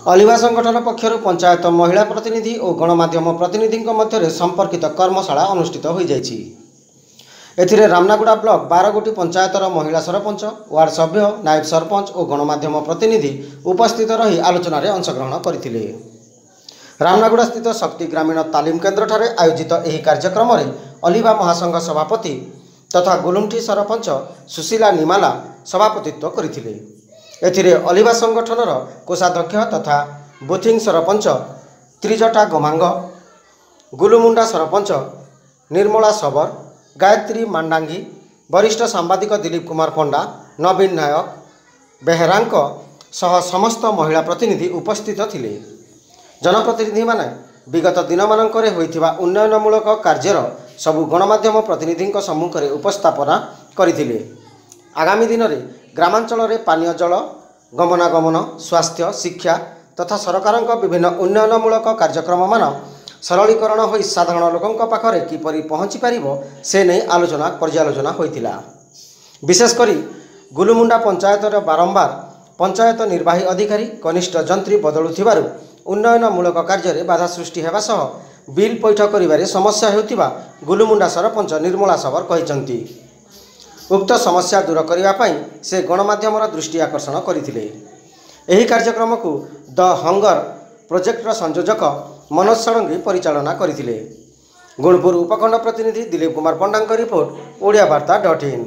ଅଲିଭା ସଂଗଠନ ପକ୍ଷରୁ ପଞ୍ଚାୟତ ମହିଳା ପ୍ରତିନିଧି ଓ ଗଣମାଧ୍ୟମ ପ୍ରତିନିଧିଙ୍କ ମଧ୍ୟରେ ସମ୍ପର୍କିତ କର୍ମଶାଳା ଅନୁଷ୍ଠିତ ହୋଇଯାଇଛି। ଏଥିରେ ରାମନାଗୁଡ଼ା ବ୍ଲକ 12 ଗୋଟି ପଞ୍ଚାୟତର ମହିଳା ସରପଞ୍ଚ, ୱାର୍ଡ ସଭ୍ୟ, ନାଏବ ସରପଞ୍ଚ ଓ ଗଣମାଧ୍ୟମ ପ୍ରତିନିଧି ଉପସ୍ଥିତ ରହି ଆଲୋଚନାରେ ଅଂଶଗ୍ରହଣ କରିଥିଲେ। ରାମନାଗୁଡ଼ା ସ୍ଥିତ ଶକ୍ତି ଗ୍ରାମୀଣ ତାଲିମ କେନ୍ଦ୍ରଠାରେ ଆୟୋଜିତ ଏହି କାର୍ଯ୍ୟକ୍ରମରେ ଅଲିଭା ମହାସଂଘ ସଭାପତି ତଥା ଗୁଲୁଣ୍ଠି ସରପଞ୍ଚ ସୁଶୀଲା ନିମାଲା ସଭାପତିତ୍ୱ କରିଥିଲେ। ଏଥିରେ ଅଲିଭା ସଂଗଠନର କୋଷାଧ୍ୟକ୍ଷ ତଥା ବୁଥିଂ ସରପଞ୍ଚ ତ୍ରିଜଟା ଗମାଙ୍ଗ, ଗୁଲୁମୁଣ୍ଡା ସରପଞ୍ଚ ନିର୍ମଳା ଶବର, ଗାୟତ୍ରୀ ମାଣ୍ଡାଙ୍ଗି, ବରିଷ୍ଠ ସାମ୍ବାଦିକ ଦିଲୀପ କୁମାର ପଣ୍ଡା, ନବୀନ ନାୟକ ବେହେରାଙ୍କ ସହ ସମସ୍ତ ମହିଳା ପ୍ରତିନିଧି ଉପସ୍ଥିତ ଥିଲେ। ଜନପ୍ରତିନିଧିମାନେ ବିଗତ ଦିନମାନଙ୍କରେ ହୋଇଥିବା ଉନ୍ନୟନମୂଳକ କାର୍ଯ୍ୟର ସବୁ ଗଣମାଧ୍ୟମ ପ୍ରତିନିଧିଙ୍କ ସମ୍ମୁଖରେ ଉପସ୍ଥାପନା କରିଥିଲେ। ଆଗାମୀ ଦିନରେ ଗ୍ରାମାଞ୍ଚଳରେ ପାନୀୟ ଜଳ, ଗମନାଗମନ, ସ୍ୱାସ୍ଥ୍ୟ, ଶିକ୍ଷା ତଥା ସରକାରଙ୍କ ବିଭିନ୍ନ ଉନ୍ନୟନମୂଳକ କାର୍ଯ୍ୟକ୍ରମମାନ ସରଳୀକରଣ ହୋଇ ସାଧାରଣ ଲୋକଙ୍କ ପାଖରେ କିପରି ପହଞ୍ଚି ପାରିବ, ସେ ନେଇ ଆଲୋଚନା ପର୍ଯ୍ୟାଲୋଚନା ହୋଇଥିଲା। ବିଶେଷ କରି ଗୁଲୁମୁଣ୍ଡା ପଞ୍ଚାୟତର ବାରମ୍ବାର ପଞ୍ଚାୟତ ନିର୍ବାହୀ ଅଧିକାରୀ, କନିଷ୍ଠ ଯନ୍ତ୍ରୀ ବଦଳୁଥିବାରୁ ଉନ୍ନୟନମୂଳକ କାର୍ଯ୍ୟରେ ବାଧା ସୃଷ୍ଟି ହେବା ସହ ବିଲ୍ ପଇଠ କରିବାରେ ସମସ୍ୟା ହେଉଥିବା ଗୁଲୁମୁଣ୍ଡା ସରପଞ୍ଚ ନିର୍ମଳା ଶବର କହିଛନ୍ତି। ଉକ୍ତ ସମସ୍ୟା ଦୂର କରିବା ପାଇଁ ସେ ଗଣମାଧ୍ୟମର ଦୃଷ୍ଟି ଆକର୍ଷଣ କରିଥିଲେ। ଏହି କାର୍ଯ୍ୟକ୍ରମକୁ ଦ ହଙ୍ଗର ପ୍ରୋଜେକ୍ଟର ସଂଯୋଜକ ମନୋଜ ଷଡ଼ଙ୍ଗୀ ପରିଚାଳନା କରିଥିଲେ। ଗୁଣପୁର ଉପଖଣ୍ଡ ପ୍ରତିନିଧି ଦିଲୀପ କୁମାର ପଣ୍ଡାଙ୍କ ରିପୋର୍ଟ, ଓଡ଼ିଆ ବାର୍ତ୍ତା ଡଟ୍ ଇନ୍।